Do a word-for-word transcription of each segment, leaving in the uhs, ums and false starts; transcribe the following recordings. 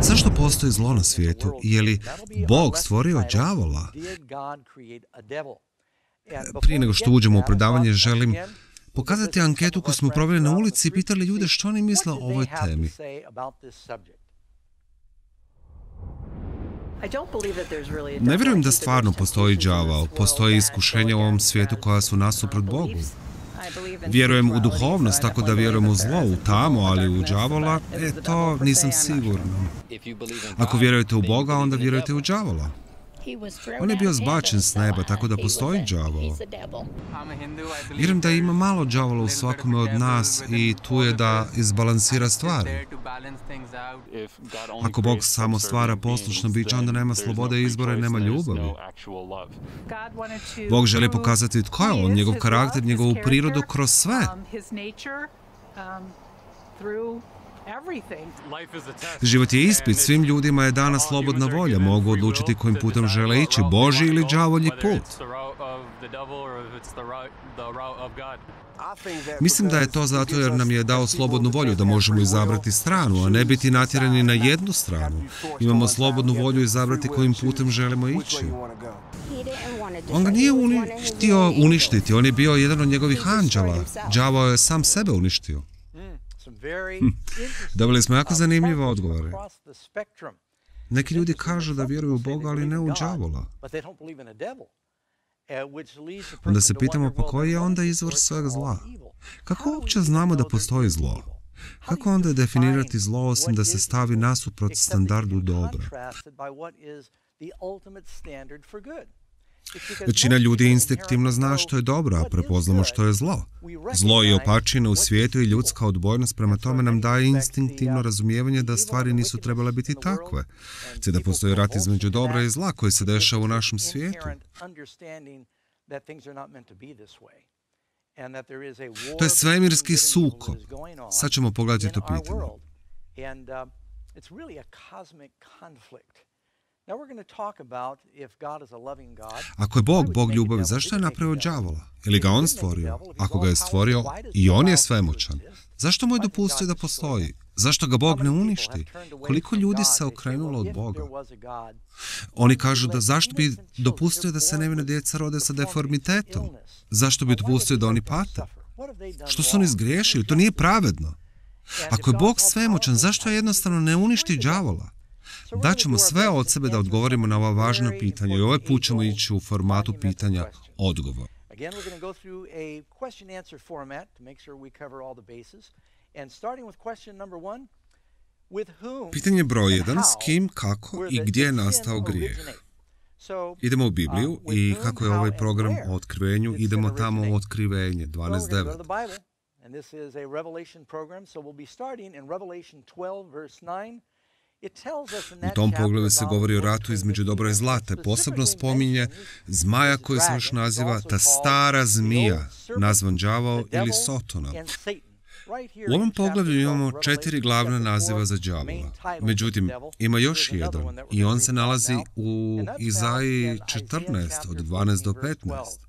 Zašto postoji zlo na svijetu? Je li Bog stvorio đavola? Prije nego što uđemo u predavanje, želim pokazati anketu koju smo proveli na ulici i pitali ljude što oni misle o ovoj temi. Ne vjerujem da stvarno postoji đavao. Postoji iskušenja u ovom svijetu koja su nasuprot Bogu. Vjerujem u duhovnost, tako da vjerujem u zlo, u tamo, ali u đavola, e, to nisam siguran. Ako vjerujete u Boga, onda vjerujete u đavola. On je bio zbačen s neba, tako da postoji đavol. Vjerujem da ima malo đavola u svakome od nas i tu je da izbalansira stvari. Ako Bog samo stvara poslušno biće, onda nema slobode izbora i nema ljubavi. Bog želi pokazati tko je on, njegov karakter, njegovu prirodu kroz sve. Život je ispit, svim ljudima je dana slobodna volja, mogu odlučiti kojim putem žele ići, Božji ili đavolji put. Mislim da je to zato jer nam je dao slobodnu volju da možemo izabrati stranu, a ne biti natjerani na jednu stranu. Imamo slobodnu volju izabrati kojim putem želimo ići. On ga nije uni- htio uništiti, on je bio jedan od njegovih anđela. Đavao je sam sebe uništio. Dobili smo jako zanimljive odgovore. Neki ljudi kažu da vjeruju u Boga, ali ne u đavola. Onda se pitamo, pa koji je onda izvor svega zla? Kako uopće znamo da postoji zlo? Kako onda definirati zlo osim da se stavi nasuprot standardu dobra? Većina ljudi instinktivno zna što je dobro, a prepoznamo što je zlo. Zlo i opačina u svijetu i ljudska odbojnost prema tome nam daje instinktivno razumijevanje da stvari nisu trebale biti takve, te da postoji rat između dobra i zla koji se dešava u našem svijetu. To je svemirski sukob. Sad ćemo pogledati to pitanje. Ako je Bog Bog ljubavi, zašto je napravio đavola? Je li ga on stvorio? Ako ga je stvorio, i on je svemoćan. Zašto mu je dopustio da postoji? Zašto ga Bog ne uništi? Koliko ljudi se okrenulo od Boga? Oni kažu da zašto bi dopustio da se nevina djeca rode sa deformitetom? Zašto bi dopustio da oni pate? Što su oni zgriješili? To nije pravedno. Ako je Bog svemoćan, zašto je jednostavno ne uništi đavola? Daćemo sve od sebe da odgovorimo na ova važna pitanja i ovaj put ćemo ići u formatu pitanja-odgovor. Pitanje broj jedan, s kim, kako i gdje je nastao grijeh? Idemo u Bibliju i kako je ovaj program o otkrivenju, idemo tamo u otkrivenje, dvanaest devet. U tom pogledu se govori o ratu između dobra i zla, te posebno spominje zmaja koji se još naziva ta stara zmija, nazvan đavao ili Sotona. U ovom poglavlju imamo četiri glavna naziva za đavola. Međutim, ima još jedan i on se nalazi u Izaiji četrnaest, od dvanaest do petnaest.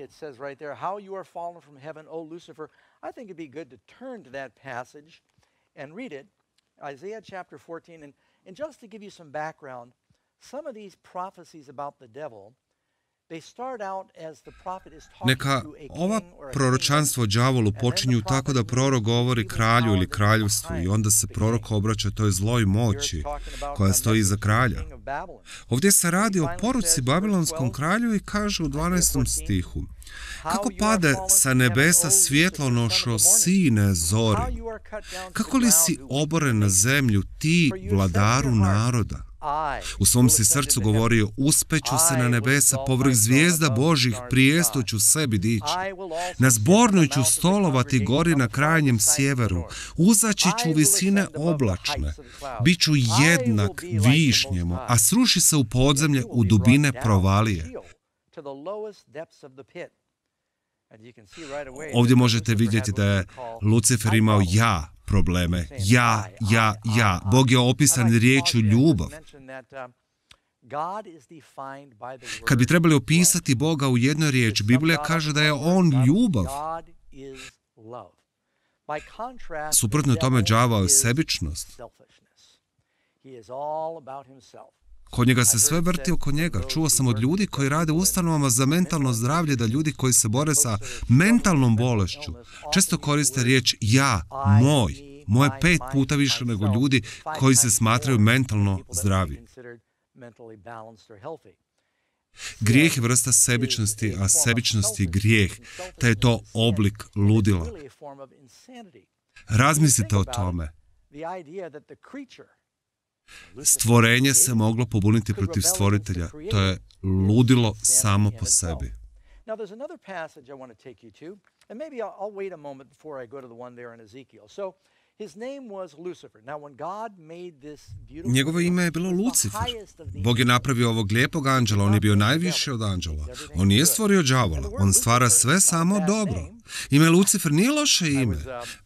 It says right there, how you are fallen from heaven, O Lucifer. I think it'd be good to turn to that passage and read it. Isaiah chapter fourteen, and, and just to give you some background, some of these prophecies about the devil, they start out as the prophet is talking Neka to a king ova or a proročanstvo o đavolu počinju tako da prorok govori kralju ili kraljevstvu i onda se prorok obraća toj zloj moći koja stoji iza kralja. Ovdje se radi o poruci babilonskom kralju i kaže u dvanaestom stihu: kako pade sa nebesa svjetlonošo sine zori, kako li si oboren na zemlju ti vladaru naroda? U svom si srcu govorio, uspeću se na nebesa, povrh zvijezda Božih prijesto ću sebi dići. Na zbornoj ću stolovati gori na krajnjem sjeveru, uzaći ću visine oblačne, bit ću jednak višnjemu, a sruši se u podzemlje u dubine provalije. Ovdje možete vidjeti da je Lucifer imao ja probleme. Ja, ja, ja. Bog je opisan riječju ljubav. Kad bi trebali opisati Boga u jednoj riječi, Biblija kaže da je on ljubav. Suprotno tome, đavao je sebičnost. Kod njega se sve vrti oko njega. Čuo sam od ljudi koji rade u ustanovama za mentalno zdravlje da ljudi koji se bore sa mentalnom bolešću često koriste riječ ja, moj. Moje pet puta više nego ljudi koji se smatraju mentalno zdravi. Grijeh je vrsta sebičnosti, a sebičnost je grijeh, te je to oblik ludila. Razmislite o tome. Stvorenje se moglo pobuniti protiv stvoritelja. To je ludilo samo po sebi. Njegovo ime je bilo Lucifer. Bog je napravio ovog lijepog anđela, on je bio najviši od anđela. On nije stvorio đavola, on stvara sve samo dobro. Ime Lucifer nije loše ime.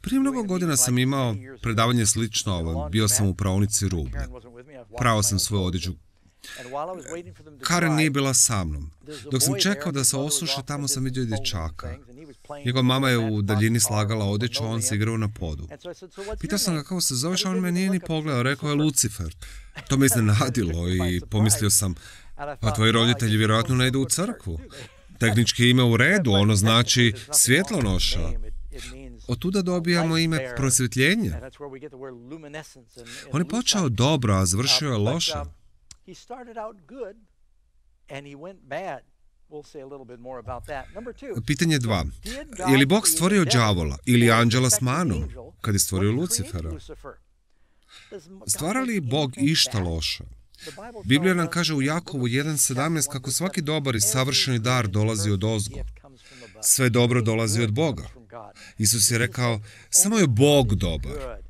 Prije mnogo godina sam imao predavanje slično ovom, bio sam u praonici rublja. Prao sam svoju odjeću. Karen nije bila sa mnom. Dok sam čekao da se osuše, tamo sam vidio dječaka. Njegova mama je u daljini slagala odjeću, a on se igrao na podu. Pitao sam ga kako se zoveš, a on me nije ni pogledao, rekao je Lucifer. To me iznenadilo i pomislio sam, pa tvoji roditelji vjerojatno ne idu u crkvu. Tehnički ime u redu, ono znači svjetlonoša. Od tuda dobijamo ime prosvjetljenje. On je počeo dobro, a završio je loše. Pitanje dva. Je li Bog stvorio đavola ili anđela s manom kad je stvorio Lucifera? Stvara li Bog išta loše? Biblija nam kaže u Jakovu jedan sedamnaest kako svaki dobar i savršeni dar dolazi od ozgo. Sve dobro dolazi od Boga. Isus je rekao, samo je Bog dobar.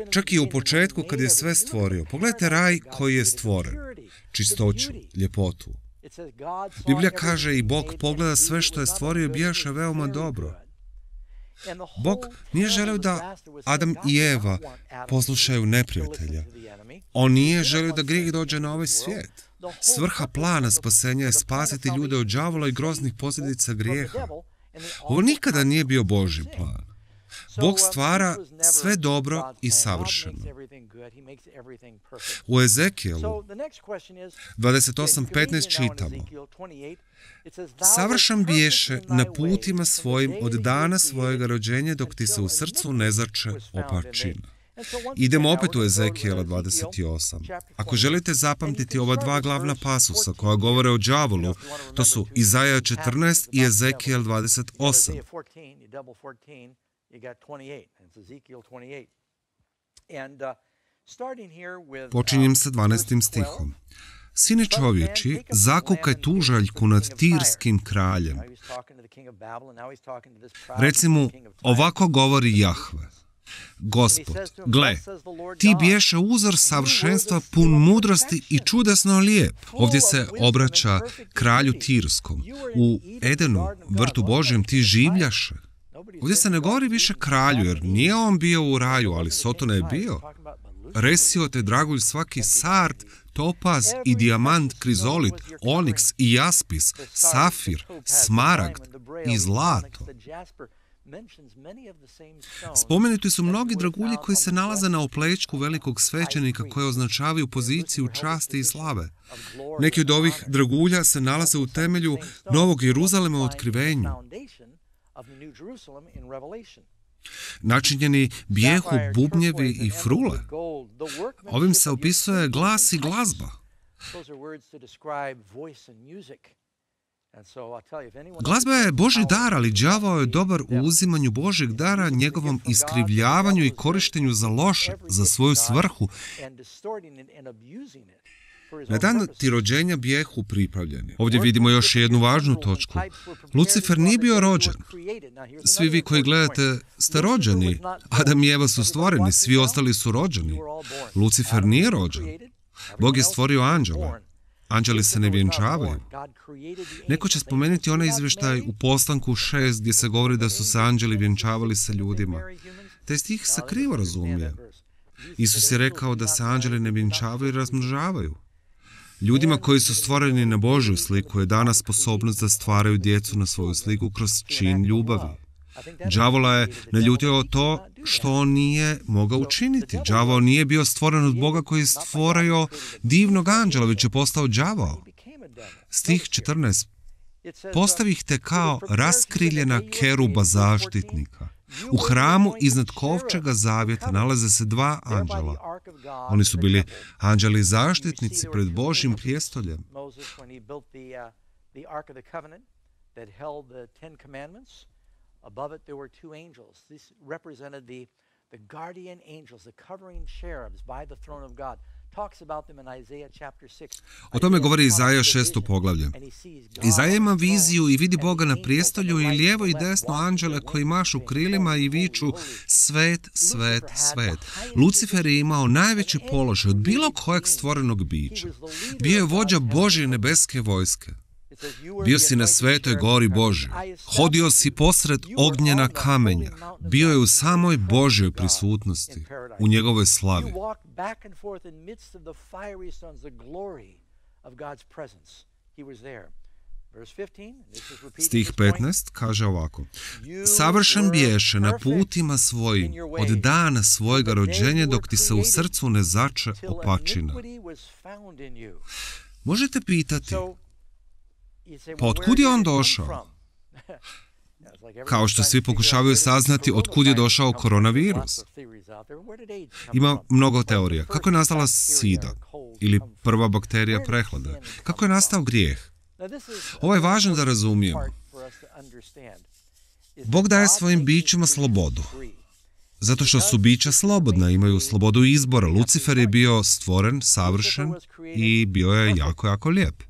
Čak i u početku kad je sve stvorio. Pogledajte raj koji je stvoren. Čistoću, ljepotu. Biblija kaže i Bog pogleda sve što je stvorio i bijaše veoma dobro. Bog nije želio da Adam i Eva poslušaju neprijatelja. On nije želio da grijeh dođe na ovaj svijet. Svrha plana spasenja je spasiti ljude od đavola i groznih posljedica grijeha. Ovo nikada nije bio Božji plan. Bog stvara sve dobro i savršeno. U Ezekijelu dvadeset osam petnaest čitamo: Savršen biješe na putima svojim od dana svojega rođenja dok ti se u srcu ne zače opačina. Idemo opet u Ezekijela dvadeset osam. Ako želite zapamtiti ova dva glavna pasusa koja govore o đavolu, to su Izaja četrnaest i Ezekijel dvadeset osam. Počinjem sa dvanaestim stihom. Sine čovječi, zakukaj tužaljku nad tirskim kraljem. Reci mu, ovako govori Jahve. Gospod, gle, ti biješe uzor savršenstva pun mudrosti i čudesno lijep. Ovdje se obraća kralju tirskom. U Edenu, vrtu Božjem, ti življaše. Ovdje se ne govori više kralju, jer nije on bio u raju, ali Sotona je bio. Resio te dragulj svaki sard, topaz i dijamant, krizolit, oniks i jaspis, safir, smaragd i zlato. Spomenuti su mnogi dragulji koji se nalaze na oplečku velikog svećenika koje označavaju poziciju časti i slave. Neki od ovih dragulja se nalaze u temelju Novog Jeruzalema u Otkrivenju. Načinjeni bijehu, bubnjevi i frule. Ovim se opisuje glas i glazba. Glazba je Božji dar, ali đavao je dobar u uzimanju Božjeg dara, njegovom iskrivljavanju i korištenju za loše, za svoju svrhu. Na dan ti rođenja bijehu pripravljeni. Ovdje vidimo još jednu važnu točku. Lucifer nije bio rođen. Svi vi koji gledate ste rođeni. Adam i Eva su stvoreni, svi ostali su rođeni. Lucifer nije rođen. Bog je stvorio anđela. Anđeli se ne vjenčavaju. Neko će spomenuti onaj izvještaj u Poslanku šest gdje se govori da su se anđeli vjenčavali sa ljudima. Taj stih se krivo razumije. Isus je rekao da se anđeli ne vjenčavaju i razmnožavaju. Ljudima koji su stvoreni na Božju sliku je dana sposobnost da stvaraju djecu na svoju sliku kroz čin ljubavi. Đavola je naljutio to što on nije mogao učiniti. Đavao nije bio stvoren od Boga koji je stvorio divnog anđela, već je postao đavao. Stih četrnaest. Postavih te kao raskriljena keruba zaštitnika. U hramu iznad kovčega zavjeta nalaze se dva anđela. Oni su bili anđeli zaštitnici pred Božjim prijestoljem. Above it there were two angels. These represented the, the guardian angels, the covering cherubs by the throne of God. Talks about them in Isaiah chapter six. O tome govori Izaja šesto poglavlje. Izaja ima viziju i vidi Boga na prijestolju i lijevo i desno anđele koji mašu krilima i viču svet, svet, svet. Lucifer je imao najveći položaj od bilo kojeg stvorenog bića. Bio je vođa Božje nebeske vojske. Bio si na svetoj gori Božjoj. Hodio si posred ognjena kamenja. Bio je u samoj Božjoj prisutnosti, u njegovoj slavi. Stih petnaest kaže ovako. Savršen biješe na putima svojim od dana svojega rođenja dok ti se u srcu ne zače opačina. Možete pitati, pa otkud je on došao? Kao što svi pokušavaju saznati otkud je došao koronavirus. Ima mnogo teorija. Kako je nastala sida ili prva bakterija prehlade? Kako je nastao grijeh? Ovo je važno da razumijemo. Bog daje svojim bićima slobodu. Zato što su bića slobodna, imaju slobodu izbora. Lucifer je bio stvoren, savršen i bio je jako, jako lijep.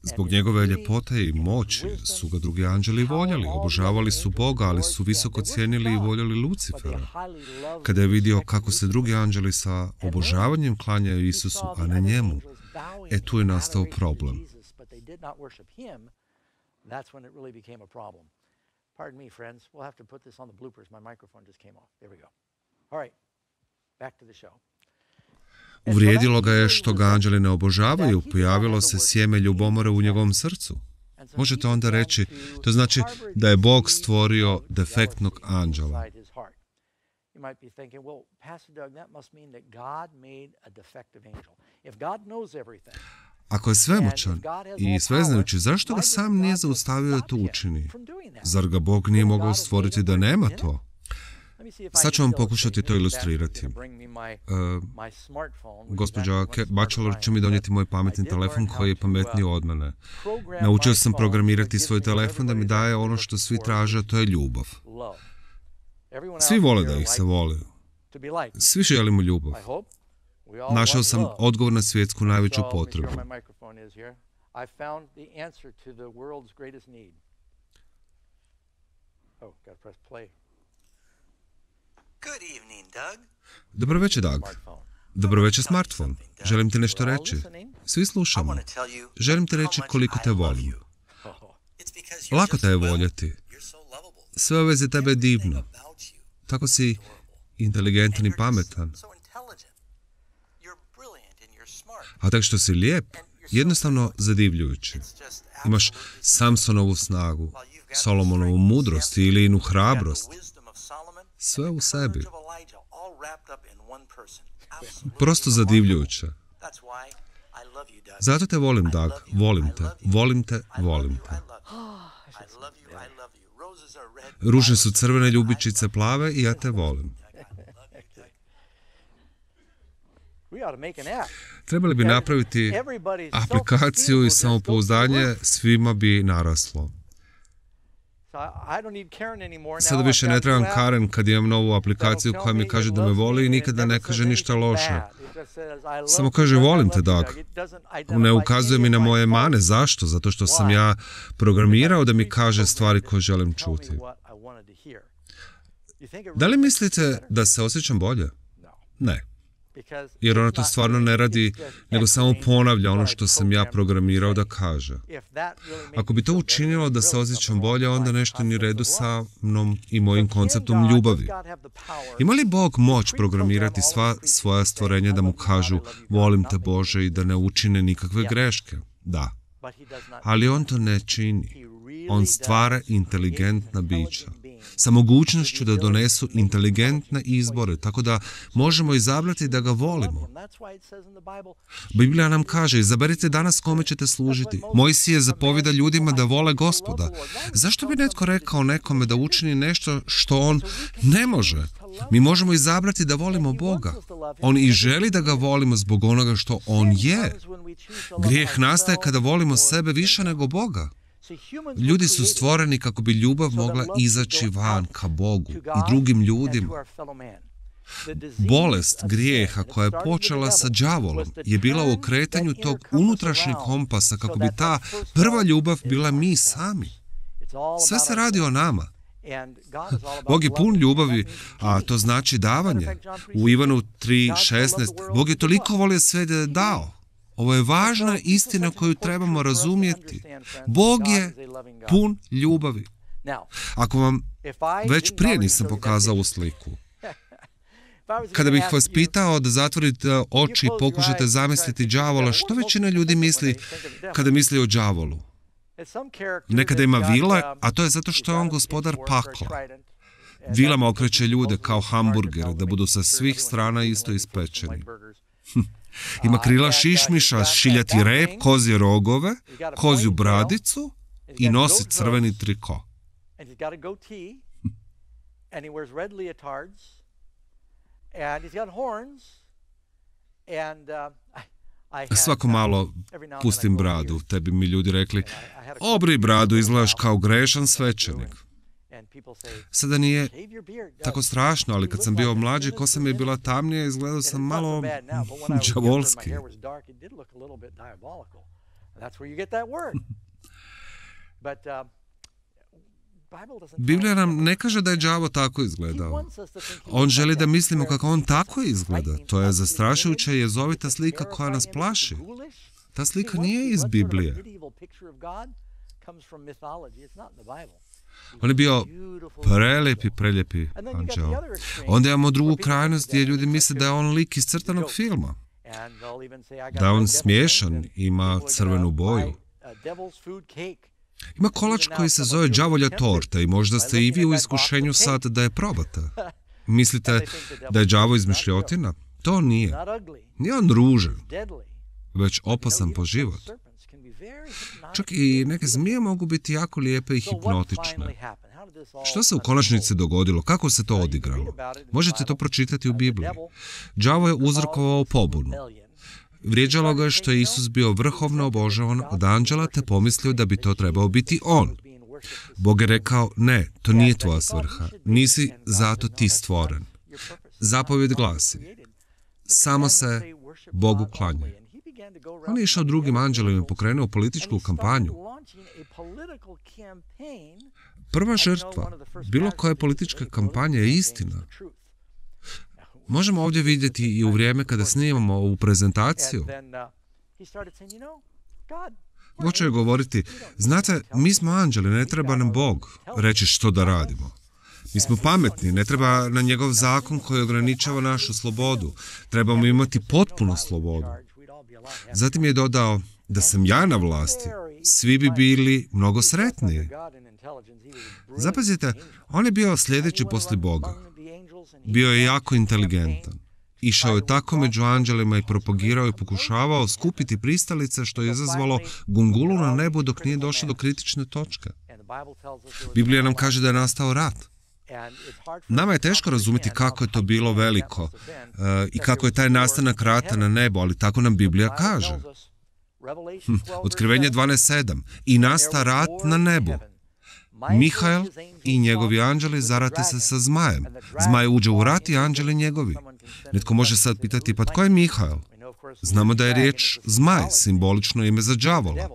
Zbog njegove ljepote i moći su ga drugi anđeli voljeli, obožavali su Boga, ali su visoko cijenili i voljeli Lucifera. Kada je vidio kako se drugi anđeli sa obožavanjem klanjaju Isusu, a ne njemu, e tu je nastao problem. Uvrijedilo ga je što ga anđeli ne obožavaju, pojavilo se sjeme ljubomore u njegovom srcu. Možete onda reći, to znači da je Bog stvorio defektnog anđela. Ako je svemoćan i sveznajući, zašto ga sam nije zaustavio da to učini? Zar ga Bog nije mogao stvoriti da nema to? Sad ću vam pokušati to ilustrirati. Uh, gospođa Bachelor će mi donijeti moj pametni telefon koji je pametniji od mene. Naučio sam programirati svoj telefon da mi daje ono što svi traže, a to je ljubav. Svi vole da ih se vole. Svi želimo ljubav. Našao sam odgovor na svjetsku najveću potrebu. Dobro večer, Doug. Dobro večer, smartfon. Želim ti nešto reći. Svi slušamo. Želim ti reći koliko te volim. Lako te je voljeti. Sve u vezi tebe je divno. Tako si inteligentan i pametan. A tako što si lijep, jednostavno zadivljujući. Imaš Samsonovu snagu, Solomonovu mudrost ili inu hrabrost. Sve u sebi. Prosto zadivljujuće. Zato te volim, Doug. Volim te. Volim te. Volim te. Ruže su crvene, ljubičice plave i ja te volim. Trebali bi napraviti aplikaciju i samopouzdanje, svima bi naraslo. Sada više ne trebam Karen kad imam novu aplikaciju koja mi kaže da me voli i nikada ne kaže ništa loše. Samo kaže volim te, Doug. Ne ukazuje mi na moje mane. Zašto? Zato što sam ja programirao da mi kaže stvari koje želim čuti. Da li mislite da se osjećam bolje? Ne. Jer ona to stvarno ne radi, nego samo ponavlja ono što sam ja programirao da kaže. Ako bi to učinilo da se osjećam bolje, onda nešto nije u redu sa mnom i mojim konceptom ljubavi. Ima li Bog moć programirati sva svoja stvorenja da mu kažu volim te, Bože, i da ne učine nikakve greške? Da. Ali on to ne čini. on stvara inteligentna bića sa mogućnošću da donesu inteligentne izbore, tako da možemo izabrati da ga volimo. Biblija nam kaže, izaberite danas kome ćete služiti. Mojsije zapovjeda ljudima da vole Gospoda. Zašto bi netko rekao nekome da učini nešto što on ne može? Mi možemo izabrati da volimo Boga. On i želi da ga volimo zbog onoga što on je. Grijeh nastaje kada volimo sebe više nego Boga. Ljudi su stvoreni kako bi ljubav mogla izaći van ka Bogu i drugim ljudima. Bolest grijeha koja je počela sa đavolom je bila u okretanju tog unutrašnjeg kompasa kako bi ta prva ljubav bila mi sami. Sve se radi o nama. Bog je pun ljubavi, a to znači davanje. U Ivanu tri šesnaest Bog je toliko volio sve da je dao. Ovo je važna istina koju trebamo razumjeti. Bog je pun ljubavi. Ako vam već prije nisam pokazao ovu sliku, kada bih vas pitao da zatvorite oči i pokušate zamisliti đavola, što većina ljudi misli kada misli o đavolu? Nekada ima vile, a to je zato što je on gospodar pakla. Vilama okreće ljude kao hamburger, da budu sa svih strana isto ispečeni. Ima krila šišmiša, šiljati rep, kozje rogove, kozju bradicu i nosi crveni triko. Svako malo pustim bradu, te bi mi ljudi rekli, obri bradu, izgledaš kao grešan svećenik. Sada nije tako strašno, ali kad sam bio mlađi, kosa mi je bila tamnija, izgledao sam malo đavolski. Biblija nam ne kaže da je đavo tako izgledao. On želi da mislimo kako on tako izgleda. To je zastrašujuća i jezovita slika koja nas plaši. Ta slika nije iz Biblije. On je bio prelijepi, prelijepi anđeo. Onda imamo drugu krajnost gdje ljudi misle da je on lik iz crtanog filma. Da je on smiješan, ima crvenu boju. Ima kolač koji se zove đavolja torta i možda ste i vi u iskušenju sad da je probate. Mislite da je đavo izmišljotina? To nije. Nije on ružan, već opasan po život. Čak i neke zmije mogu biti jako lijepe i hipnotične. Što se u konačnici dogodilo? Kako se to odigralo? Možete to pročitati u Bibliji. Đavo je uzrokovao pobunu. Vrijeđalo ga je što je Isus bio vrhovno obožavan od anđela, te pomislio da bi to trebao biti on. Bog je rekao, ne, to nije tvoja svrha. Nisi zato ti stvoren. Zapovjed glasi, samo se Bogu klanjaj. On je išao drugim anđelima i pokrenuo političku kampanju. Prva žrtva bilo koje političke kampanje je istina. Možemo ovdje vidjeti i u vrijeme kada snimamo ovu prezentaciju. Počeo je govoriti, znate, mi smo anđeli, ne treba nam Bog reći što da radimo. Mi smo pametni, ne treba na njegov zakon koji ograničava našu slobodu. Trebamo imati potpunu slobodu. Zatim je dodao, da sam ja na vlasti, svi bi bili mnogo sretniji. Zapazite, on je bio sljedeći poslije Boga. Bio je jako inteligentan. Išao je tako među anđelima i propagirao i pokušavao skupiti pristalice, što je izazvalo gungulu na nebu dok nije došlo do kritične točke. Biblija nam kaže da je nastao rat. Nama je teško razumjeti kako je to bilo veliko uh, i kako je taj nastanak rata na nebu, ali tako nam Biblija kaže. Hm, Otkrivenje dvanaest sedam. I nasta rat na nebu. Mihael i njegovi anđeli zarate se sa zmajem. Zmaj uđe u rat i anđeli njegovi. Netko može sad pitati, pa tko je Mihael? Znamo da je riječ zmaj, simbolično ime za đavola.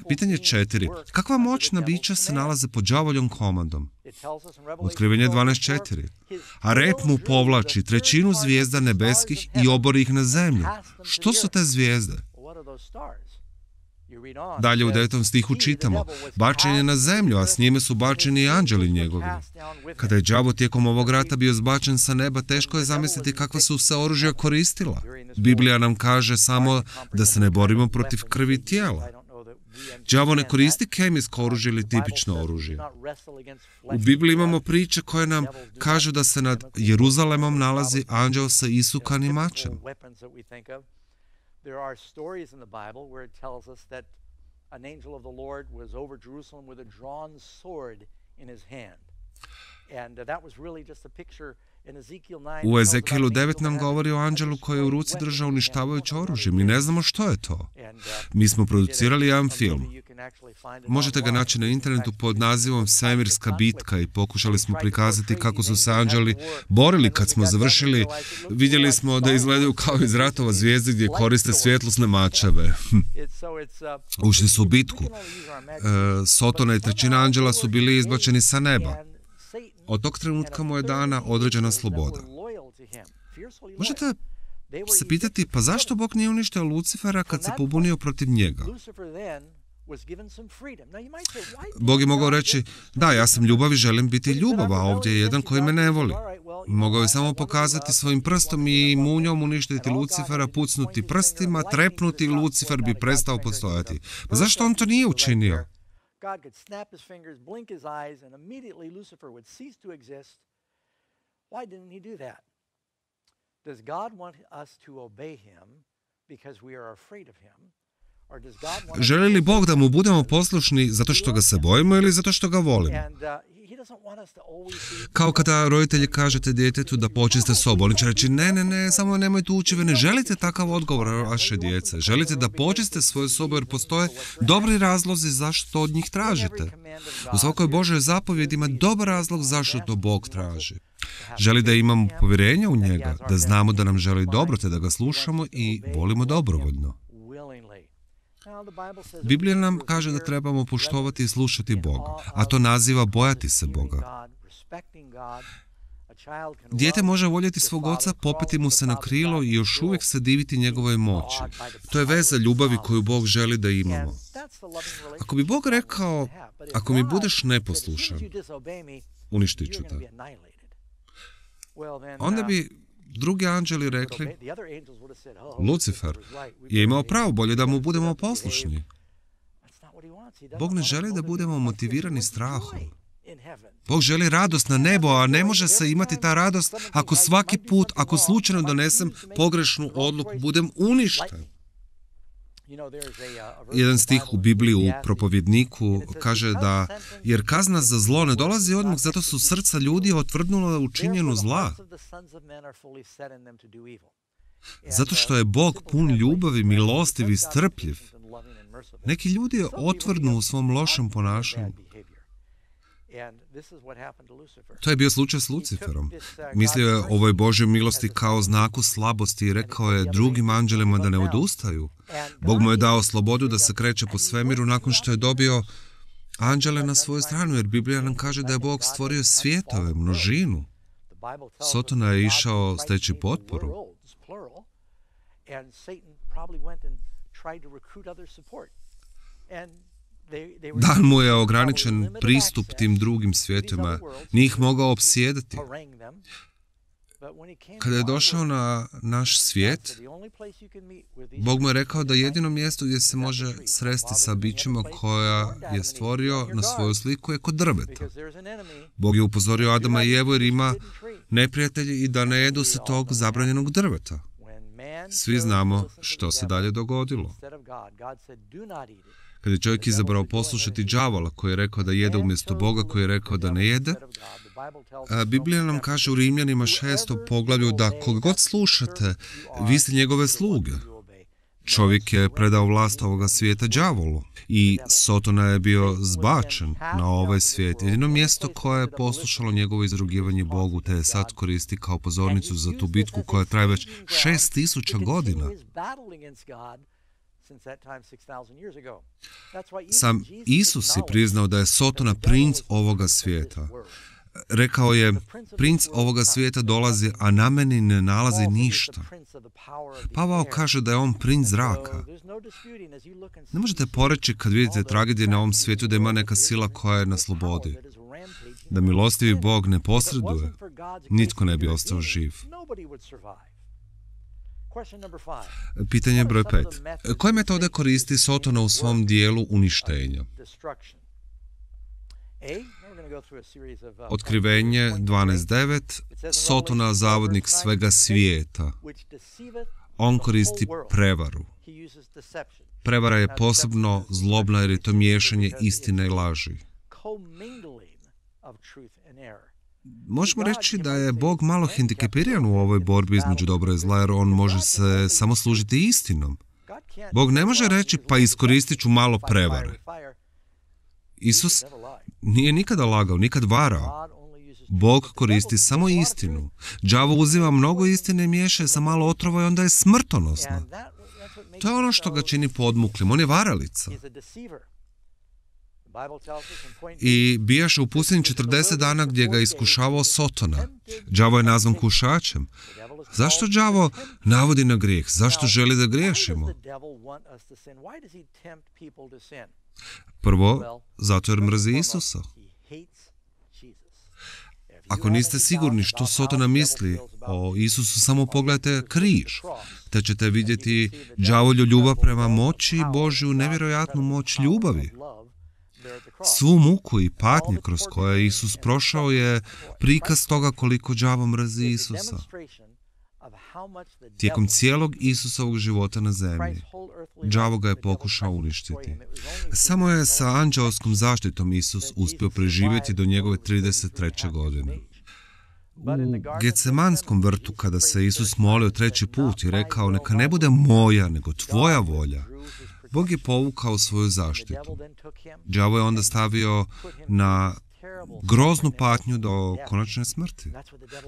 Pitanje četiri. Kakva moćna bića se nalaze pod đavoljom komandom? Otkrivenje dvanaest četiri. A rep mu povlači trećinu zvijezda nebeskih i obori ih na zemlju. Što su te zvijezde? Dalje u devetom stihu čitamo, bačen je na zemlju, a s njime su bačeni i anđeli njegovi. Kada je đavo tijekom ovog rata bio zbačen sa neba, teško je zamisliti kakva su se oružja koristila. Biblija nam kaže samo da se ne borimo protiv krvi tijela. Đavo ne koristi kemijsko oružje ili tipično oružje. U Bibliji imamo priče koje nam kažu da se nad Jeruzalemom nalazi anđeo sa isukanim mačem. There are stories in the Bible where it tells us that an angel of the Lord was over Jerusalem with a drawn sword in his hand. And uh, that was really just a picture in Ezekiel nine. U Ezekielu devet nam govori o anđelu koji je u ruci držao uništavajuće oružje. Mi ne znamo što je to. Mi smo producirali jedan film. Možete ga naći na internetu pod nazivom Svemirska bitka i pokušali smo prikazati kako su se anđeli borili. Kad smo završili, vidjeli smo da izgledaju kao iz ratova zvijezde gdje koriste svjetlosne mačeve. Ušli su u bitku. E, Sotona i trećina anđela su bili izbačeni sa neba. Od tog trenutka mu je dana određena sloboda. Možete se pitati, pa zašto Bog nije uništio Lucifera kad se pobunio protiv njega? Bog je mogao reći, da, ja sam ljubav i želim biti ljubav, a ovdje je jedan koji me ne voli. Mogao je samo pokazati svojim prstom i munjom uništiti Lucifera, pucnuti prstima, trepnuti i Lucifer bi prestao postojati. Pa zašto on to nije učinio? God could snap his fingers, blink his eyes, and immediately Lucifer would cease to exist. Why didn't he do that? Does God want us to obey him because we are afraid of him? Or does God want Želi li Bog da mu budemo poslušni zato što ga se bojimo ili zato što ga volimo? Kao kada roditelji kažete djetetu da počiste sobu, oni će reći ne, ne, ne, samo nemojte ući, ne želite takav odgovor vaše djece. Želite da počiste svoju sobu jer postoje dobri razlozi zašto od njih tražite. U svakoj Božoj zapovjedi ima dobar razlog zašto to Bog traži. Želi da imamo povjerenje u njega, da znamo da nam želi dobro te da ga slušamo i volimo dobrovoljno. Biblija nam kaže da trebamo poštovati i slušati Boga, a to naziva bojati se Boga. Dijete može voljeti svog oca, popeti mu se na krilo i još uvijek se diviti njegovoj moći. To je veza ljubavi koju Bog želi da imamo. Ako bi Bog rekao, ako mi budeš neposlušan, uništit ću te. Onda bi drugi anđeli rekli, Lucifer je imao pravo, bolje da mu budemo poslušni. Bog ne želi da budemo motivirani strahom. Bog želi radost na nebo, a ne može se imati ta radost ako svaki put, ako slučajno donesem pogrešnu odluku, budem uništen. Jedan stih u Bibliji u Propovjedniku kaže da, jer kazna za zlo ne dolazi odmah, zato su srca ljudi otvrdnula u činjenju zla. Zato što je Bog pun ljubavi, milostiv i strpljiv. Neki ljudi otvrdnu u svom lošem ponašanju. To je bio slučaj s Luciferom. Mislio je ovoj Božjoj milosti kao znaku slabosti i rekao je drugim anđelima da ne odustaju. Bog mu je dao slobodu da se kreće po svemiru nakon što je dobio anđele na svoju stranu, jer Biblija nam kaže da je Bog stvorio svjetove, množinu. Sotona je išao steći potporu. Dan mu je ograničen pristup tim drugim svijetima, nije ih mogao opsjedati. Kada je došao na naš svijet, Bog mu je rekao da jedino mjesto gdje se može sresti sa bićima koja je stvorio na svoju sliku je kod drveta. Bog je upozorio Adama i Evu jer ima neprijatelji i da ne jedu se tog zabranjenog drveta. Svi znamo što se dalje dogodilo. Kada je čovjek izabrao poslušati đavola koji je rekao da jede umjesto Boga, koji je rekao da ne jede, Biblija nam kaže u Rimljanima šestom poglavlju da koga god slušate, vi ste njegove sluge. Čovjek je predao vlast ovoga svijeta đavolu i Sotona je bio zbačen na ovaj svijet. Jedino mjesto koje je poslušalo njegovo izrugivanje Bogu te je sad koristi kao pozornicu za tu bitku koja traje već šest tisuća godina. Sam Isus je priznao da je Sotona princ ovoga svijeta. Rekao je, princ ovoga svijeta dolazi, a na meni ne nalazi ništa. Pavao kaže da je on princ zraka. Ne možete poreći kad vidite tragedije na ovom svijetu da ima neka sila koja je na slobodi. Da milostivi Bog ne posreduje, nitko ne bi ostao živ. Pitanje broj pet. Koje metode koristi Sotona u svom dijelu uništenja? Otkrivenje dvanaest devet. Sotona, zavodnik svega svijeta. On koristi prevaru. Prevara je posebno zlobna jer je to miješanje istine i laži. Možemo reći da je Bog malo hendikepiran u ovoj borbi između dobra i zla, jer on može se samo služiti istinom. Bog ne može reći, pa iskoristit ću malo prevare. Isus nije nikada lagao, nikad varao. Bog koristi samo istinu. Đavo uzima mnogo istine i miješa sa malo otrova i onda je smrtonosno. To je ono što ga čini podmuklim. On je varalica. I bijaše u pustinji četrdeset dana gdje ga je iskušavao Sotona. Đavo je nazvan kušačem. Zašto đavo navodi na grijeh? Zašto želi da griješimo? Prvo, zato jer mrzi Isusa. Ako niste sigurni što Sotona misli o Isusu, samo pogledajte križ, te ćete vidjeti đavolju ljubav prema moći i Božju nevjerojatnu moć ljubavi. Svu muku i patnje kroz koje je Isus prošao je prikaz toga koliko đavo mrzi Isusa. Tijekom cijelog Isusovog života na zemlji, đavo ga je pokušao uništiti. Samo je sa anđelskom zaštitom Isus uspio preživjeti do njegove trideset treće godine. U Getsemanskom vrtu, kada se Isus molio treći put i rekao, neka ne bude moja, nego tvoja volja, Bog je povukao svoju zaštitu. Đavo je onda stavio na groznu patnju do konačne smrti.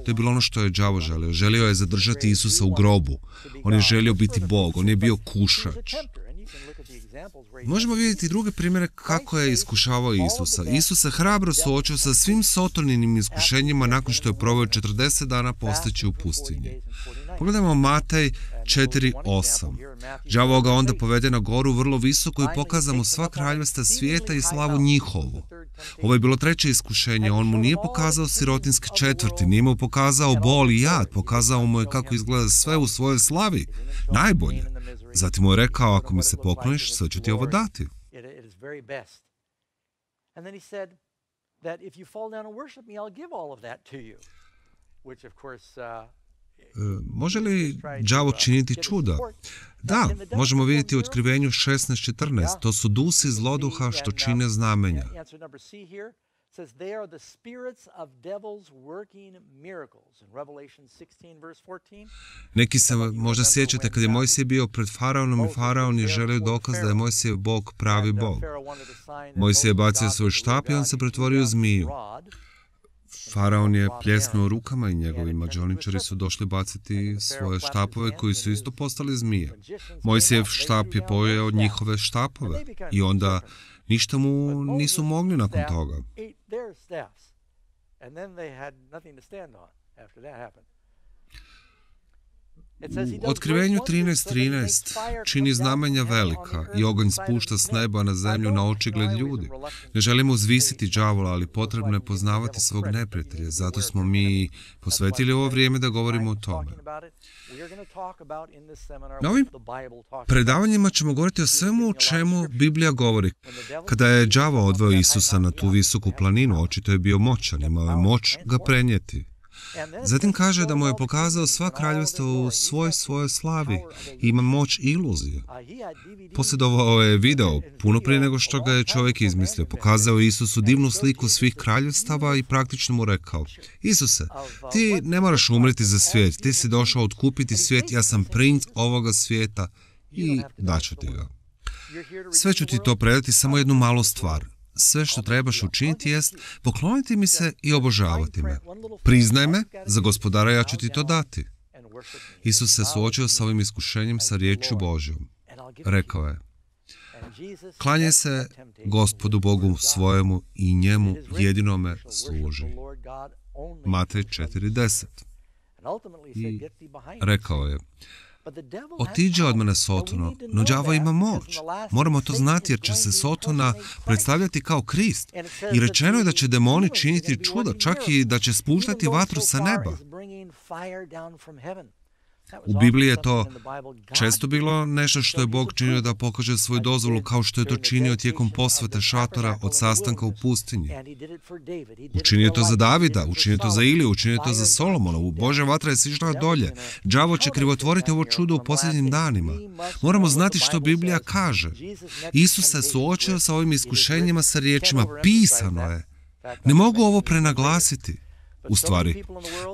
To je bilo ono što je đavo želio. Želio je zadržati Isusa u grobu. On je želio biti Bog. On je bio kušač. Možemo vidjeti druge primjere kako je iskušavao Isusa. Isus se hrabro suočio sa svim Sotoninim iskušenjima nakon što je proveo četrdeset dana posteći u pustinji. Pogledajmo Matej četiri osam. Đavo ga onda povede na goru vrlo visoko i pokaza mu sva kraljevstva svijeta i slavu njihovu. Ovo je bilo treće iskušenje. On mu nije pokazao sirotinske četvrti, nije mu pokazao bol i jad, pokazao mu je kako izgleda sve u svojoj slavi. Najbolje. Zatim mu je rekao, ako mi se pokloniš, sve ću ti ovo dati. Može li đavo činiti čuda? Da, možemo vidjeti u Otkrivenju šesnaest četrnaest. To su dusi zloduha što čine znamenja. Neki se možda sjećate kad je Mojsije bio pred faraonom i faraon je želio dokaz da je Mojsijev Bog pravi Bog. Mojsije je bacio svoj štap i on se pretvorio u zmiju. Faraon je pljesnuo rukama i njegovi mađoničari su došli baciti svoje štapove koji su isto postali zmije. Mojsijev štap je pojeo od njihove štapove i onda ništa mu nisu mogli nakon toga. U Otkrivenju trinaest trinaest čini znamenja velika i oganj spušta s neba na zemlju na očigled ljudi. Ne želimo uzvisiti đavola, ali potrebno je poznavati svog neprijatelja. Zato smo mi posvetili ovo vrijeme da govorimo o tome. Na ovim predavanjima ćemo govoriti o svemu o čemu Biblija govori. Kada je đavo odveo Isusa na tu visoku planinu, očito je bio moćan, imao je moć ga prenijeti. Zatim kaže da mu je pokazao sva kraljevstva u svoj svojoj slavi i ima moć iluzije. Posjedovao je video puno prije nego što ga je čovjek izmislio. Pokazao je Isusu divnu sliku svih kraljevstava i praktično mu rekao: Isuse, ti ne moraš umreti za svijet, ti si došao otkupiti svijet, ja sam princ ovoga svijeta i daću ti ga. Sve ću ti to predati, samo jednu malu stvar. Sve što trebaš učiniti jest pokloniti mi se i obožavati me. Priznaj me, za gospodara ja ću ti to dati. Isus se suočio sa ovim iskušenjem sa riječju Božjom. Rekao je: Klanjaj se Gospodu Bogu svojemu i njemu jedinome služi. Matej četiri deset. I rekao je, otiđe od mene Sotono, no đavo ima moć. Moramo to znati jer će se Sotona predstavljati kao Krist. I rečeno je da će demoni činiti čuda, čak i da će spuštati vatru sa neba. U Bibliji je to često bilo nešto što je Bog činio da pokaže svoju dozvolu, kao što je to činio tijekom posvete šatora od sastanka u pustinji. Učinio je to za Davida, učinio je to za Iliju, učinio je to za Solomona. Božja vatra je sišla dolje. Đavo će krivotvoriti ovo čudo u posljednjim danima. Moramo znati što Biblija kaže. Isus se suočio sa ovim iskušenjima sa riječima pisano je. Ne mogu ovo prenaglasiti. U stvari,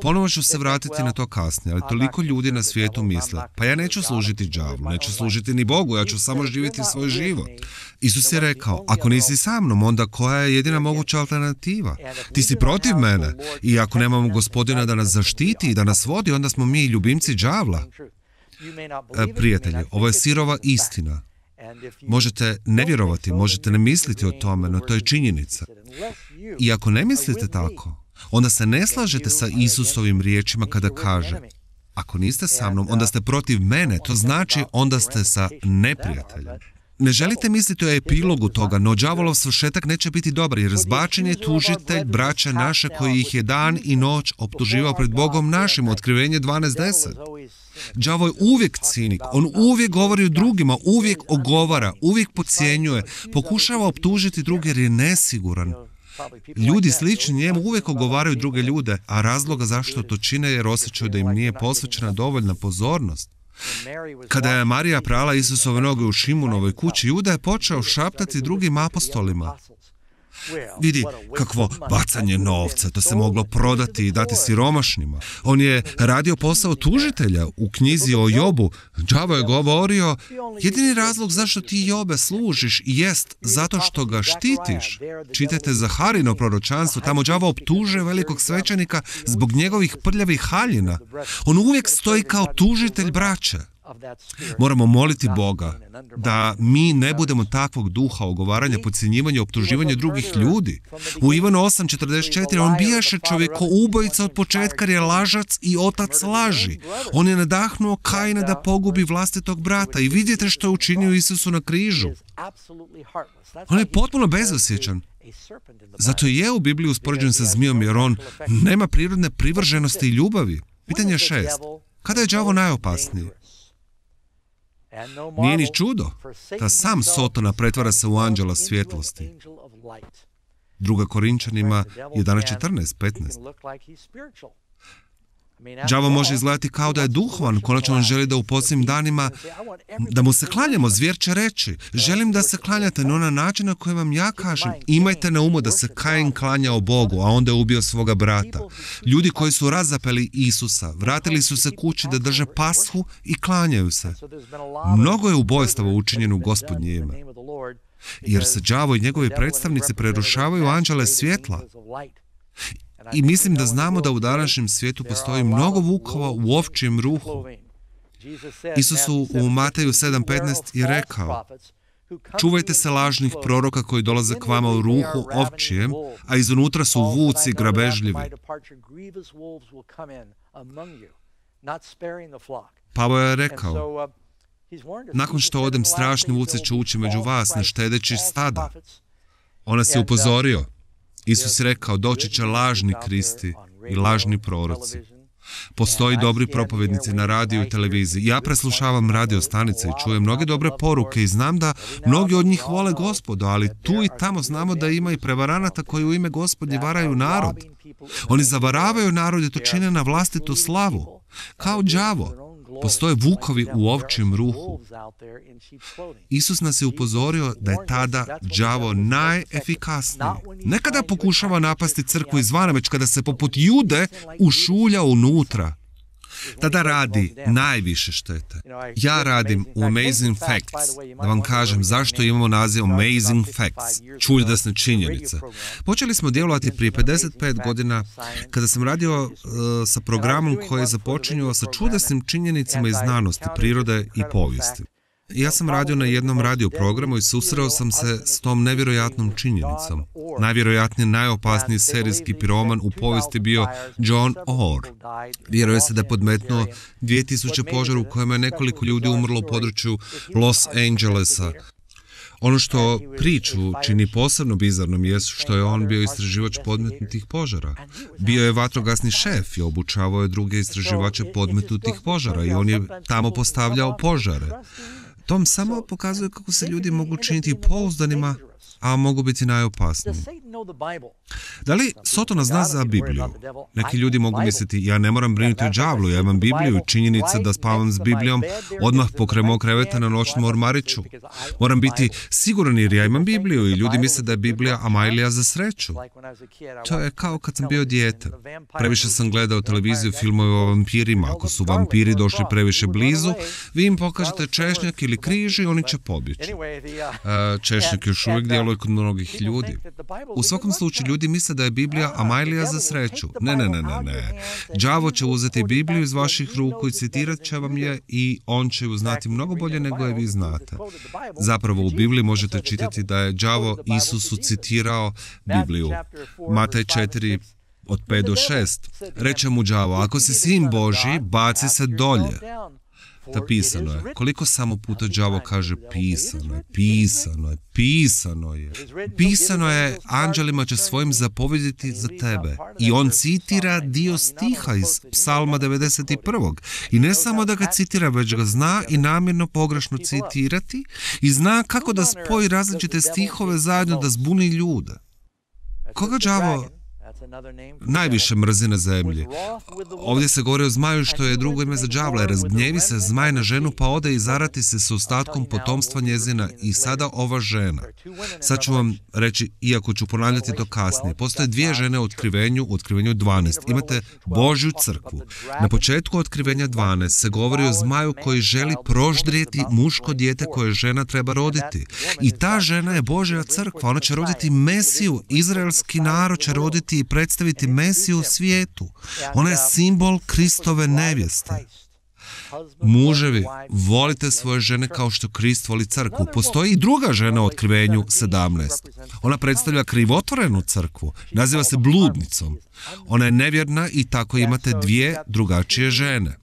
ponovo ću se vratiti na to kasnije, ali toliko ljudi na svijetu misle, pa ja neću služiti đavlu, neću služiti ni Bogu, ja ću samo živjeti svoj život. Isus je rekao, ako nisi sa mnom, onda koja je jedina moguća alternativa? Ti si protiv mene i ako nemamo Gospodina da nas zaštiti i da nas vodi, onda smo mi ljubimci đavla. E, prijatelji, ovo je sirova istina. Možete ne vjerovati, možete ne misliti o tome, no to je činjenica. I ako ne mislite tako, onda se ne slažete sa Isusovim riječima kada kaže, ako niste sa mnom, onda ste protiv mene, to znači onda ste sa neprijateljem. Ne želite misliti o epilogu toga, no đavolov svršetak neće biti dobar, jer zbačen je tužitelj braća naše koji ih je dan i noć optuživao pred Bogom našim, Otkrivenje dvanaest deset. Đavo je uvijek cinik, on uvijek govori o drugima, uvijek ogovara, uvijek podcjenjuje, pokušava optužiti druge jer je nesiguran. Ljudi slični njemu uvijek ogovaraju druge ljude, a razloga zašto to čine jer osjećaju da im nije posvećena dovoljna pozornost. Kada je Marija prala Isusove noge u Šimunovoj kući, Juda je počeo šaptati drugim apostolima. Vidi, kakvo bacanje novca, to se moglo prodati i dati siromašnima. On je radio posao tužitelja u knjizi o Jobu. Đavo je govorio, jedini razlog zašto ti Jobe služiš jest zato što ga štitiš. Čitajte Zaharino proročanstvo, tamo đavo optužuje velikog svećenika zbog njegovih prljavih haljina. On uvijek stoji kao tužitelj braće. Moramo moliti Boga da mi ne budemo takvog duha ogovaranja, podcjenjivanja, optuživanja drugih ljudi. U Ivanu osam četrdeset četiri on bijaše čovjekoubojica od početka jer je lažac i otac laži. On je nadahnuo Kaina da pogubi vlastitog brata i vidite što je učinio Isusu na križu. On je potpuno bezosjećan. Zato je u Bibliji uspoređen sa zmijom jer on nema prirodne privrženosti i ljubavi. Pitanje šest. Kada je đavo najopasniji? Nije ni čudo da sam Sotona pretvara se u anđela svjetlosti. Druga Korinčanima jedanaest četrnaest petnaest. Đavo može izgledati kao da je duhovan, konačno on želi da u posljednjim danima da mu se klanjamo, zvijer će reći, želim da se klanjate, no na način na koji vam ja kažem, imajte na umu da se Kain klanjao Bogu, a onda je ubio svoga brata. Ljudi koji su razapeli Isusa, vratili su se kući da drže pashu i klanjaju se. Mnogo je ubojstava učinjeno u Gospodnje ime, jer se đavo i njegovi predstavnici prerušavaju anđele svjetla. I mislim da znamo da u današnjem svijetu postoji mnogo vukova u ovčijem ruhu. Isus u Mateju sedam petnaest je rekao, čuvajte se lažnih proroka koji dolaze k vama u ruhu ovčijem, a iznutra su vuci grabežljivi. Pavao je rekao, nakon što odem, strašni vuci će ući među vas, ne štedeći stada. On nas je upozorio. Isus je rekao, doći će lažni Kristi i lažni proroci. Postoji dobri propovednici na radiju i televiziji. Ja preslušavam radio stanice i čujem mnoge dobre poruke i znam da mnogi od njih vole Gospodu, ali tu i tamo znamo da ima i prevaranata koji u ime Gospodnje varaju narod. Oni zavaravaju narod i to čine na vlastitu slavu. Kao đavo. Postoje vukovi u ovčijem ruhu. Isus nas je upozorio da je tada đavo najefikasniji. Ne kada pokušava napasti crkvu izvana, već kada se poput Jude ušulja unutra. Tada radi najviše štete. Ja radim u Amazing Facts. Da vam kažem zašto imamo naziv Amazing Facts. Čuljasne činjenice. Počeli smo djelovati prije pedeset pet godina kada sam radio uh, sa programom koji je započinjao sa čudesnim činjenicama iz znanosti, prirode i povijesti. Ja sam radio na jednom radio programu i susreo sam se s tom nevjerojatnom činjenicom. Najvjerojatnije najopasniji serijski piroman u povijesti bio John Orr. Vjeruje se da je podmetnuo dvije tisuće požara u kojima je nekoliko ljudi umrlo u području Los Angelesa. Ono što priču čini posebno bizarnom jest što je on bio istraživač podmetnutih požara. Bio je vatrogasni šef i obučavao je druge istraživače podmetnutih požara i on je tamo postavljao požare. Tom samo pokazuje kako se ljudi mogu činiti pouzdanima, a mogu biti najopasniji. Da li Sotona zna za Bibliju? Neki ljudi mogu misliti, ja ne moram brinuti o đavlu, ja imam Bibliju i činjenica da spavam s Biblijom odmah pokraj mog kreveta na noćnom ormariću. Moram biti siguran jer ja imam Bibliju i ljudi misle da je Biblija Amajlija za sreću. To je kao kad sam bio dijete. Previše sam gledao televiziju, filmove o vampirima. Ako su vampiri došli previše blizu, vi im pokažete češnjak ili križ i oni će pobjeći. Češnjak još uvijek djeluje kod mnogih ljudi. U svakom slučaju ljudi misle da je Biblija Amajlija za sreću. Ne, ne, ne, ne, ne. Đavo će uzeti Bibliju iz vaših ruku i citirat će vam je i on će ju znati mnogo bolje nego je vi znate. Zapravo u Bibliji možete čitati da je đavo Isusu citirao Bibliju. Matej četiri od pet do šest. Reče mu đavo, ako si sin Božji, baci se dolje. Da pisano je. Koliko samo puta đavo kaže pisano je, pisano je, pisano je. Pisano je, anđelima će svojim zapovjediti za tebe. I on citira dio stiha iz Psalma devedeset prvog. I ne samo da ga citira, već ga zna i namjerno pogrešno citirati i zna kako da spoji različite stihove zajedno da zbuni ljude. Koga đavo najviše mrzi na zemlji? Ovdje se govori o zmaju što je drugo ime za đavla. Razgnjevi se zmaj na ženu pa ode i zarati se s ostatkom potomstva njezina. I sada ova žena. Sad ću vam reći, iako ću ponavljati to kasnije. Postoje dvije žene u otkrivenju, u otkrivenju dvanaest. Imate Božju crkvu. Na početku otkrivenja dvanaest se govori o zmaju koji želi proždrijeti muško dijete koje žena treba roditi. I ta žena je Božja crkva. Ona će roditi Mesiju. Izraelski narod će roditi i predstaviti Mesiju u svijetu. Ona je simbol Kristove nevjeste. Muževi, volite svoje žene kao što Krist voli crkvu. Postoji i druga žena u otkrivenju sedamnaest. Ona predstavlja krivotvorenu crkvu. Naziva se bludnicom. Ona je nevjerna i tako imate dvije drugačije žene.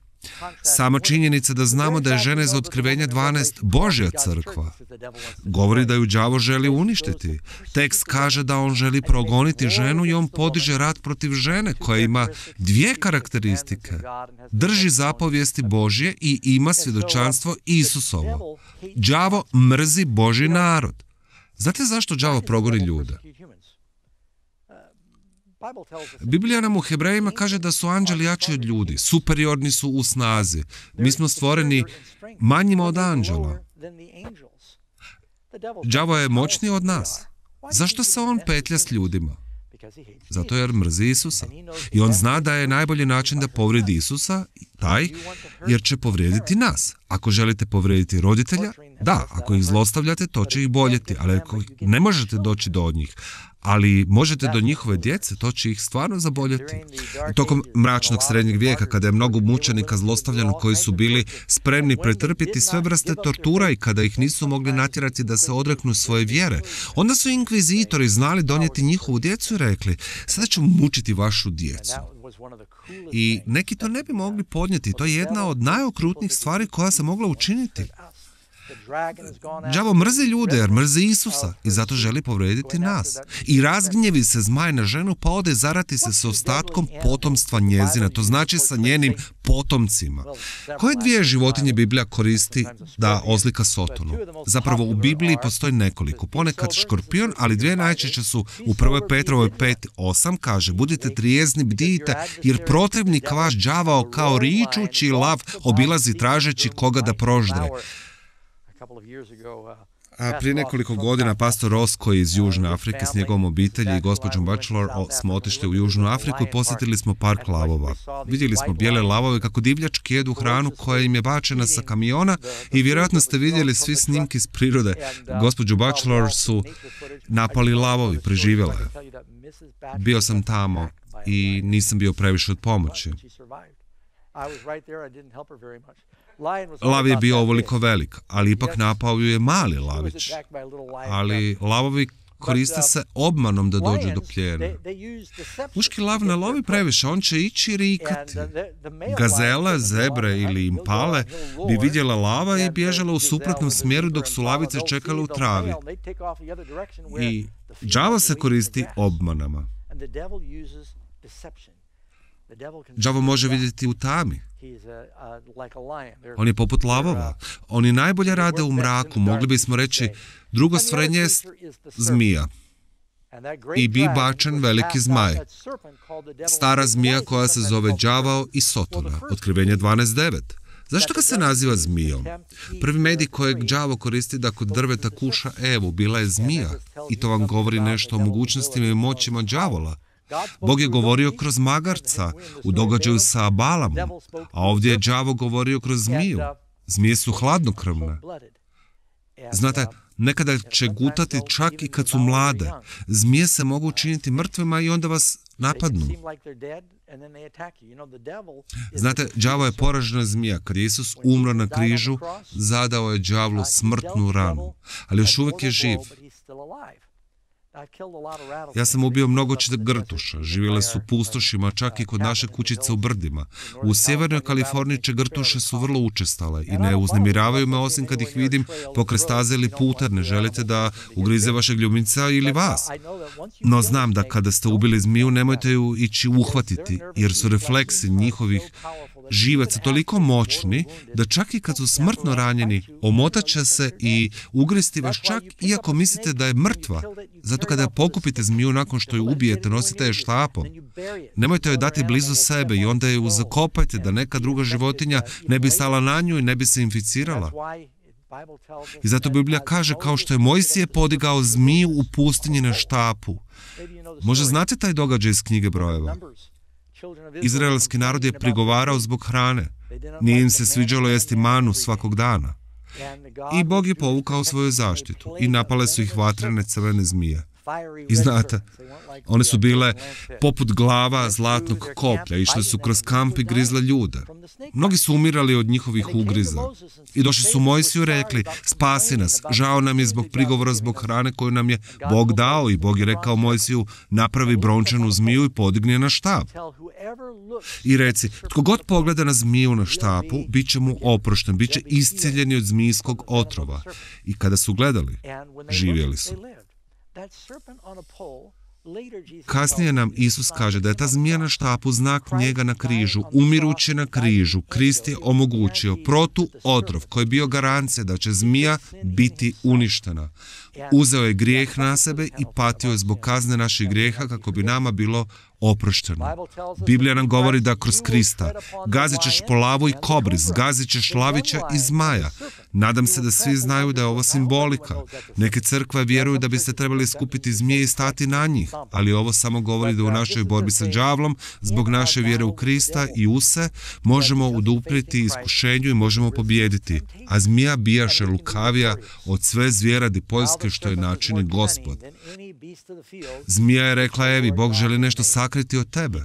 Sama činjenica da znamo da je žena iz otkrivenja dvanaest Božja crkva govori da ju đavo želi uništiti. Tekst kaže da on želi progoniti ženu i on podiže rat protiv žene koja ima dvije karakteristike. Drži zapovijesti Božje i ima svjedočanstvo Isusovo. Đavo mrzi Božji narod. Znate zašto đavo progoni ljude? Biblija nam u Hebrejima kaže da su anđeli jači od ljudi, superiorni su u snazi. Mi smo stvoreni manjima od anđela. Đavo je moćniji od nas. Zašto se on petlja s ljudima? Zato jer mrzi Isusa. I on zna da je najbolji način da povrijedi Isusa taj, jer će povrijediti nas. Ako želite povrijediti roditelja, da, ako ih zlostavljate, to će ih boljeti, ali ako ne možete doći do njih, ali možete do njihove djece, to će ih stvarno zaboljeti. Tokom mračnog srednjeg vijeka, kada je mnogo mučenika zlostavljano koji su bili spremni pretrpjeti sve vrste tortura i kada ih nisu mogli natjerati da se odreknu svoje vjere, onda su inkvizitori znali donijeti njihovu djecu i rekli, sada ćemo mučiti vašu djecu. I neki to ne bi mogli podnijeti. To je jedna od najokrutnijih stvari koja se mogla učiniti. Đavo mrzi ljude jer mrzi Isusa i zato želi povrijediti nas. I razgnjevi se zmaj na ženu pa ode zarati se s ostatkom potomstva njezina, to znači sa njenim potomcima. Koje dvije životinje Biblija koristi da ozlika Sotonu? Zapravo u Bibliji postoji nekoliko, ponekad škorpion, ali dvije najčešće su u prvoj Petrovoj pet osam kaže, budite trijezni, bdijte, jer protivnik vaš đavao kao ričući lav obilazi tražeći koga da proždre. A prije nekoliko godina pastor Ross, koji je iz Južne Afrike s njegovom obitelji i gospođom Bachelor smo otišli u Južnu Afriku i posjetili smo park lavova. Vidjeli smo bijele lavove kako divljački jedu hranu koja im je bačena sa kamiona i vjerojatno ste vidjeli svi snimki iz prirode. Gospođu Bachelor su napali lavovi, preživjela je. Bio sam tamo i nisam bio previše od pomoći. Lav je bio ovoliko velik, ali ipak napao ju je mali lavić. Ali lavovi koriste se obmanom da dođu do plijena. Muški lav ne lovi previše, on će ići i rikati. Gazele, zebre ili impale bi vidjela lava i bježala u suprotnom smjeru dok su lavice čekale u travi. I đavo se koristi obmanama. Đavo može vidjeti u tami. On je poput lavova. Oni najbolje rade u mraku, mogli bismo reći, drugo stvorenje je zmija. I bi bačen veliki zmaj. Stara zmija koja se zove đavao i Sotona. Otkrivenje dvanaest devet. Zašto ga se naziva zmijom? Prvi medij kojeg đavo koristi da kod drveta kuša Evu bila je zmija. I to vam govori nešto o mogućnostima i moćima đavola. Bog je govorio kroz magarca u događaju sa Balamom, a ovdje je đavo govorio kroz zmiju. Zmije su hladnokrvne. Znate, nekada će gutati čak i kad su mlade. Zmije se mogu učiniti mrtvima i onda vas napadnu. Znate, đavo je poražena zmija. Kad je Isus umro na križu, zadao je đavlu smrtnu ranu, ali još uvijek je živ. Ja sam ubio mnogo grtuša, živjele su pustošima, čak i kod naše kućice u brdima. U sjevernoj Kaliforniji grtuše su vrlo učestale i ne uznemiravaju me osim kad ih vidim pokraj staze ili puta, ne želite da ugrize vašeg ljubimca ili vas. No znam da kada ste ubili zmiju, nemojte ju ići uhvatiti, jer su refleksi njihovih živaca toliko moćni da čak i kad su smrtno ranjeni, omotat će se i ugristi vas čak iako mislite da je mrtva. Zato kada pokupite zmiju nakon što ju ubijete, nosite je štapom. Nemojte joj dati blizu sebe i onda ju zakopajte da neka druga životinja ne bi stala na nju i ne bi se inficirala. I zato Biblija kaže kao što je Mojsije podigao zmiju u pustinji na štapu. Možda znate taj događaj iz knjige Brojeva. Izraelski narod je prigovarao zbog hrane. Nije im se sviđalo jesti manu svakog dana. I Bog je povukao svoju zaštitu i napale su ih vatrene crvene zmije. I znate, one su bile poput glava zlatnog koplja, išle su kroz kamp i grizle ljude. Mnogi su umirali od njihovih ugriza. I došli su Mojsiju i rekli, spasi nas, žao nam je zbog prigovora zbog hrane koju nam je Bog dao. I Bog je rekao Mojsiju, napravi brončanu zmiju i podigni je na štap. I reci, tko god pogleda na zmiju na štapu, bit će mu oprošten, bit će iscijeljeni od zmijskog otrova. I kada su gledali, živjeli su. Kasnije nam Isus kaže da je ta zmija na štapu znak njega na križu. Umirući na križu, Krist je omogućio protu otrov koji je bio garancija da će zmija biti uništena. Uzeo je grijeh na sebe i patio je zbog kazne naših grijeha kako bi nama bilo oprošteno. Biblija nam govori da kroz Krista gazit ćeš po lavu i kobri, zgazit ćeš lavića i zmaja. Nadam se da svi znaju da je ovo simbolika. Neke crkve vjeruju da biste trebali skupiti zmije i stati na njih, ali ovo samo govori da u našoj borbi sa đavlom, zbog naše vjere u Krista i u se, možemo udupriti iskušenju i možemo pobijediti. A zmija bijaše lukavija od sve zvjeradi poljske što je načini Gospod. Zmija je rekla Evi, Bog želi nešto sakriti od tebe.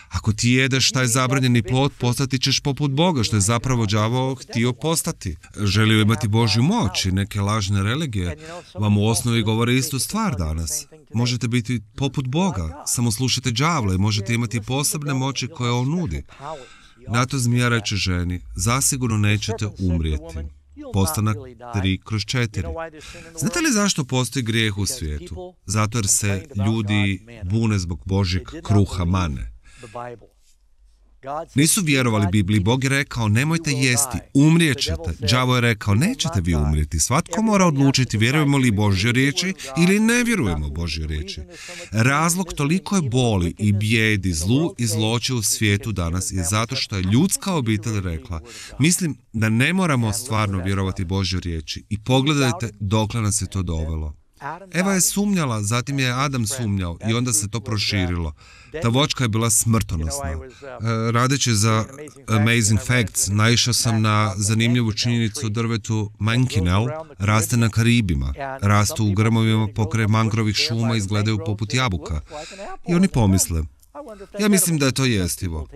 Ako ti jedeš taj zabranjeni plod, postati ćeš poput Boga, što je zapravo đavo htio postati. Želio imati Božju moć i neke lažne religije vam u osnovi govore istu stvar danas. Možete biti poput Boga, samo slušajte đavla i možete imati posebne moći koje on nudi. Na to zmija reče ženi, zasigurno nećete umrijeti. Postanak tri kroz četiri. Znate li zašto postoji grijeh u svijetu? Zato jer se ljudi bune zbog Božjeg kruha mane. Nisu vjerovali Bibliji. Bog je rekao, nemojte jesti, umrijet ćete. Đavo je rekao, nećete vi umrijeti. Svatko mora odlučiti vjerujemo li Božje riječi ili ne vjerujemo Božje riječi. Razlog toliko je boli i bijedi, zlu i zloće u svijetu danas je zato što je ljudska obitelj rekla, mislim da ne moramo stvarno vjerovati Božje riječi. I pogledajte dokle nas je to dovelo. Eva je sumnjala, zatim je Adam sumnjao i onda se to proširilo. Ta voćka je bila smrtonosna. Radeći za Amazing Facts, naišao sam na zanimljivu činjenicu o drvetu Mankinel, raste na Karibima. Rastu u grmovima pokraj mangrovih šuma, izgledaju poput jabuka. I oni pomisle, Ja mislim da je to jestivo.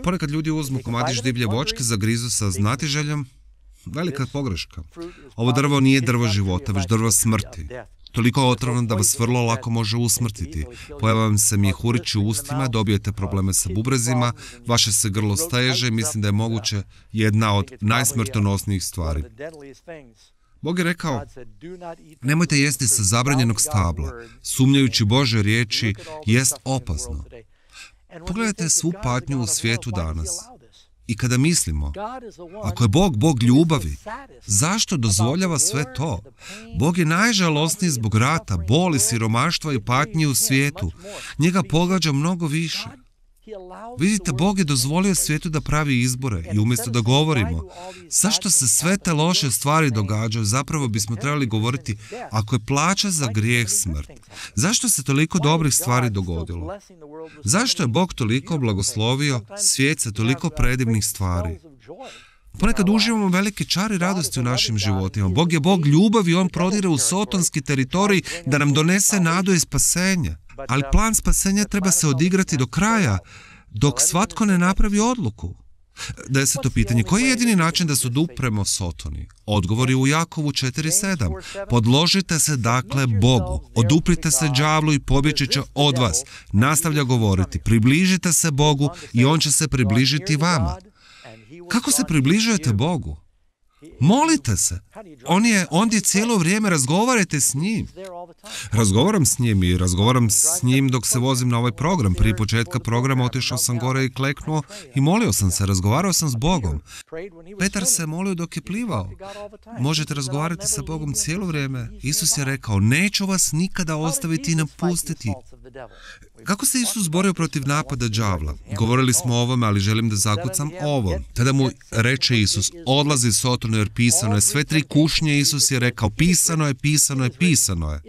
Ponekad ljudi uzmu komadić divlje voćke, zagrizu sa znatiželjom. Velika pogreška. Ovo drvo nije drvo života, već drvo smrti. Toliko otrovno da vas vrlo lako može usmrtiti. Pojava vam se mjehurići u ustima, dobijete probleme sa bubrezima, vaše se grlo steže i mislim da je moguće jedna od najsmrtonosnijih stvari. Bog je rekao, nemojte jesti sa zabranjenog stabla. Sumnjajući Božje riječi jest opasno. Pogledajte svu patnju u svijetu danas. I kada mislimo, ako je Bog Bog ljubavi, zašto dozvoljava sve to? Bog je najžalosniji zbog rata, boli, siromaštva i patnje u svijetu. Njega pogađa mnogo više. Vidite, Bog je dozvolio svijetu da pravi izbore i umjesto da govorimo zašto se sve te loše stvari događaju, zapravo bismo trebali govoriti ako je plaća za grijeh smrt. Zašto se toliko dobrih stvari dogodilo? Zašto je Bog toliko blagoslovio svijet sa toliko predivnih stvari? Ponekad uživamo velike čari radosti u našim životima. Bog je Bog ljubavi i On prodire u sotonski teritorij da nam donese nadu i spasenje. Ali plan spasenja treba se odigrati do kraja, dok svatko ne napravi odluku. Deseto pitanje. Koji je jedini način da se odupremo Sotoni? Odgovor je u Jakovu četiri sedam. Podložite se dakle Bogu, oduprite se đavlu i pobjeći će od vas. Nastavlja govoriti, približite se Bogu i On će se približiti vama. Kako se približujete Bogu? Molite se. On je ondje cijelo vrijeme, razgovarajte s njim. Razgovaram s njim i razgovaram s njim dok se vozim na ovaj program. Prije početka programa otišao sam gore i kleknuo i molio sam se, razgovarao sam s Bogom. Petar se molio dok je plivao. Možete razgovarati sa Bogom cijelo vrijeme. Isus je rekao, neću vas nikada ostaviti i napustiti. Kako se Isus borio protiv napada đavla? Govorili smo o ovome, ali želim da zakucam ovo. Tada mu reče Isus, odlazi Sotonu jer pisano je. Sve tri kušnje Isus je rekao, pisano je, pisano je, pisano je.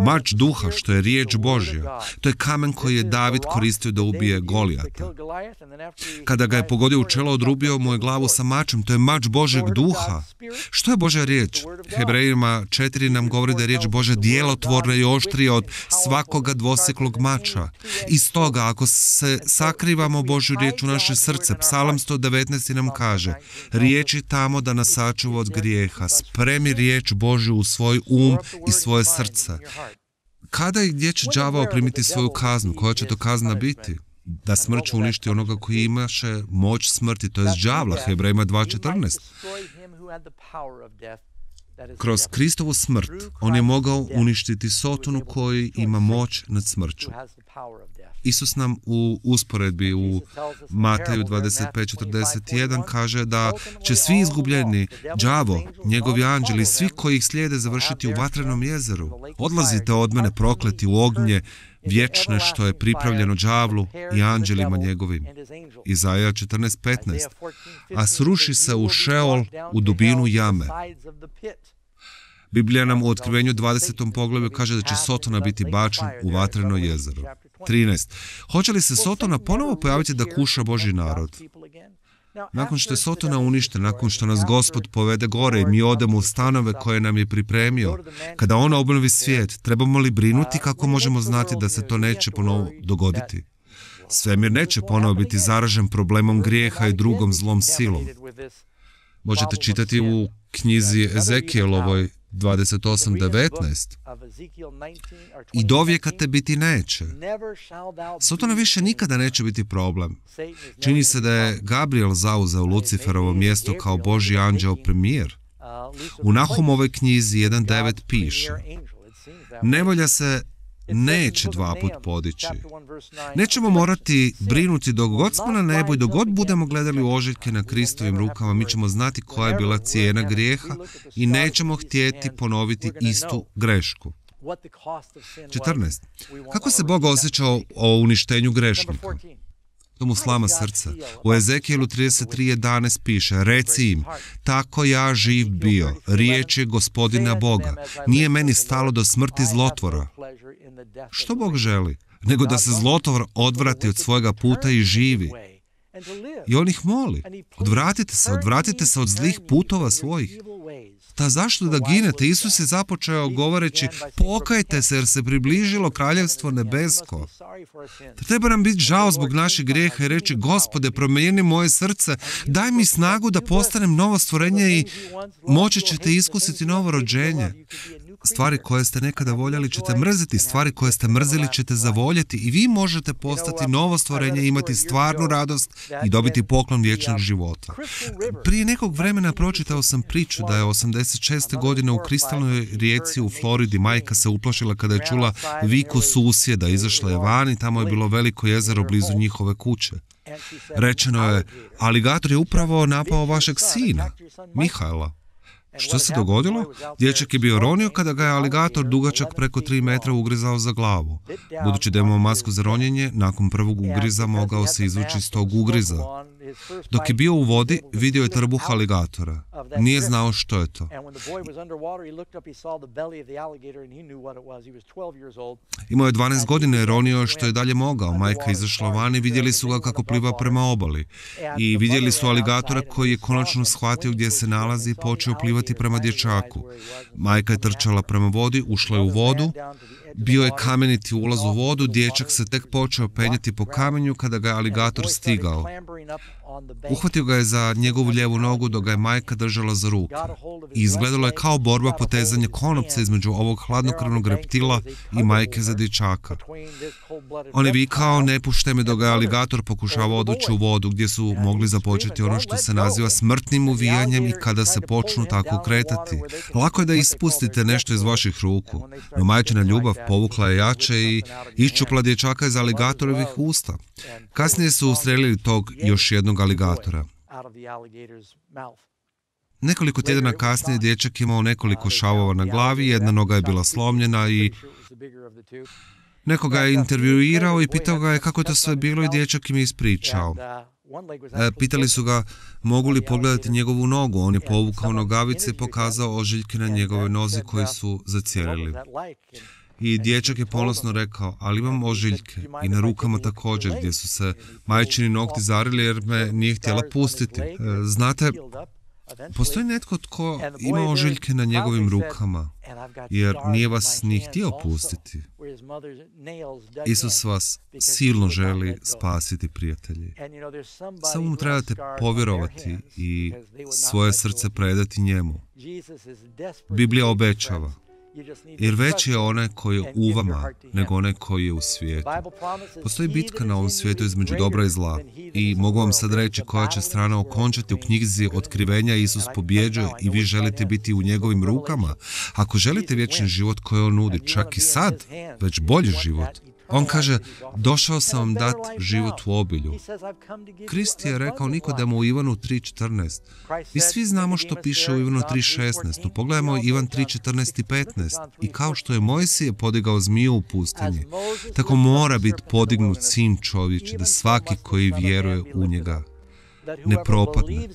Mač duha, što je riječ Božja, to je kamen koji je David koristio da ubije Golijata. Kada ga je pogodio u čelo, odrubio mu je glavu sa mačem, to je mač Božjeg duha. Što je Božja riječ? Hebrejima četiri nam govori da je riječ Božja djelotvorna i oštrija od svakoga dvoseklog mača. I stoga, ako se sakrivamo Božju riječ u naše srce, Psalam sto devetnaest nam kaže, riječi tamo da nas sačuva od grijeha, spremi riječ Božju u svoj um i svoje srce. Kada i gdje će đavao primiti svoju kaznu? Koja će to kazna biti? Da smrću uništi onoga koji imaše moć smrti, to je đavla, Hebrejima dva četrnaest. Kroz Kristovu smrt on je mogao uništiti Sotonu koji ima moć nad smrću. Isus nam u usporedbi u Mateju dvadeset pet četrdeset jedan kaže da će svi izgubljeni, đavo, njegovi anđeli, svi koji ih slijede završiti u vatrenom jezeru. Odlazite od mene prokleti u ognje vječne što je pripravljeno đavlu i anđelima njegovim. Izaja četrnaest petnaest. A sruši se u Šeol, u dubinu jame. Biblija nam u Otkrivenju dvadesetom poglavlju kaže da će Sotona biti bačen u vatreno jezero. trinaest. Hoće li se Sotona ponovo pojaviti da kuša Božji narod? Nakon što je Sotona uništen, nakon što nas Gospod povede gore i mi odemo u stanove koje nam je pripremio, kada On obnovi svijet, trebamo li brinuti kako možemo znati da se to neće ponovo dogoditi? Svemir neće ponovo biti zaražen problemom grijeha i drugom zlom silom. Možete čitati u knjizi Ezekielovoj dvadeset osam devetnaest. I dovijeka te biti neće. Sotona više nikada neće biti problem. Čini se da je Gabriel zauzeo Luciferovo mjesto kao Božji anđeo premijer. U Nahumovoj knjizi jedan devet piše, nevolja se neće dva put podići. Nećemo morati brinuti dok god smo na nebu i dok god budemo gledali u ožiljke na Kristovim rukama, mi ćemo znati koja je bila cijena grijeha i nećemo htjeti ponoviti istu grešku. četrnaest. Kako se Bog osjećao o uništenju grešnika? To mu slama srca. U Ezekijelu trideset tri jedanaest piše, reci im, tako ja živ bio, riječ je Gospodina Boga, nije meni stalo do smrti zlotvora. Što Bog želi? Nego da se zlotvor odvrati od svojega puta i živi. I on ih moli, odvratite se, odvratite se od zlih putova svojih. Ta zašto da ginete? Isus je započeo govoreći, pokajte se jer se približilo kraljevstvo nebesko. Treba nam biti žao zbog naših grijeha i reći, Gospode, promijeni moje srce, daj mi snagu da postanem novo stvorenje i moći ćete iskusiti novo rođenje. Stvari koje ste nekada voljeli ćete mrziti, stvari koje ste mrzili ćete zavoljeti i vi možete postati novo stvorenje, imati stvarnu radost i dobiti poklon vječnog života. Prije nekog vremena pročitao sam priču da je osamdeset šeste godine u kristalnoj rijeci u Floridi majka se uplašila kada je čula viku susjeda, izašla je van i tamo je bilo veliko jezero blizu njihove kuće. Rečeno je, aligator je upravo napao vašeg sina, Mihaela. Što se dogodilo? Dječak je bio ronio kada ga je aligator dugačak preko tri metra ugrizao za glavu. Budući da imao masku za ronjenje, nakon prvog ugriza mogao se izvući iz tog ugriza. Dok je bio u vodi, vidio je trbuh aligatora. Nije znao što je to. Imao je dvanaest godina i ronio što je dalje mogao. Majka izašla van i vidjeli su ga kako pliva prema obali. I vidjeli su aligatora koji je konačno shvatio gdje se nalazi i počeo plivati prema dječaku. Majka je trčala prema vodi, ušla je u vodu. Bio je kameniti ulaz u vodu, dječak se tek počeo penjati po kamenju kada ga je aligator stigao. Uhvatio ga je za njegovu lijevu nogu dok ga je majka držala za ruke. I izgledalo je kao borba potezanja konopca između ovog hladnokrvnog reptila i majke za dječaka. On je vikao, ne puštaj me, dok ga je aligator pokušavao odvući u vodu gdje su mogli započeti ono što se naziva smrtnim uvijanjem i kada se počnu tako kretati. Lako je da ispustite nešto iz vaših ruku, no majčina ljubav povukla je jače i iščupla dječaka iz aligatorovih usta. Kasnije su ustrelili tog još jednog aligatora. Nekoliko tjedana kasnije dječak imao nekoliko šavova na glavi, jedna noga je bila slomljena i neko ga je intervjuirao i pitao ga je kako je to sve bilo i dječak im je ispričao. E, pitali su ga mogu li pogledati njegovu nogu, on je povukao nogavice i pokazao ožiljke na njegovoj nozi koji su zacijelili. I dječak je ponosno rekao, ali imam ožiljke i na rukama također gdje su se majčini nokti zarili jer me nije htjela pustiti. E, znate, postoji netko tko ima ožiljke na njegovim rukama jer nije vas ni htio pustiti. Isus vas silno želi spasiti, prijatelji. Samo mu trebate povjerovati i svoje srce predati njemu. Biblija obećava, jer veći je onaj koji je u vama nego onaj koji je u svijetu. Postoji bitka na ovom svijetu između dobra i zla i mogu vam sad reći koja će strana okončati. U knjizi Otkrivenja Isus pobjeđuje i vi želite biti u njegovim rukama. Ako želite vječni život koji on nudi, čak i sad, već bolji život. On kaže, došao sam vam dati život u obilju. Krist je rekao Nikodemu u Ivanu tri četrnaest. Mi svi znamo što piše u Ivanu tri šesnaest, no pogledajmo Ivan tri četrnaest i petnaest. I kao što je Mojsije podigao zmiju u pustinji, tako mora biti podignut sin čovječi, da svaki koji vjeruje u njega ne propadne,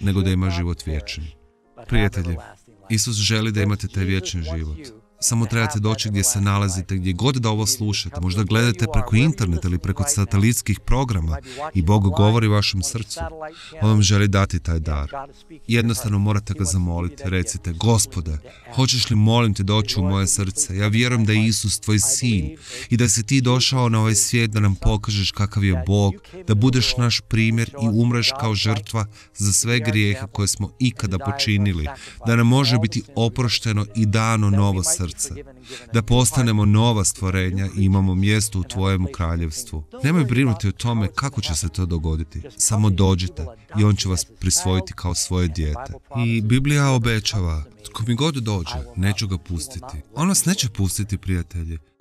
nego da ima život vječni. Prijatelji, Isus želi da imate taj vječni život. Samo trebate doći gdje se nalazite, gdje god da ovo slušate. Možda gledate preko interneta ili preko satelitskih programa i Bog govori vašem srcu. On vam želi dati taj dar. Jednostavno morate ga zamoliti. Recite, Gospode, hoćeš li, molim te, doći u moje srce? Ja vjerujem da je Isus tvoj sin i da si ti došao na ovaj svijet da nam pokažeš kakav je Bog, da budeš naš primjer i umreš kao žrtva za sve grijehe koje smo ikada počinili, da nam može biti oprošteno i dano novo srce. Da postanemo nova stvorenja i imamo mjesto u tvojemu kraljevstvu. Nemoj brinuti o tome kako će se to dogoditi. Samo dođite i on će vas prisvojiti kao svoje dijete. I Biblija obećava, tko mi god dođe, neću ga pustiti. On nas neće pustiti, prijatelji.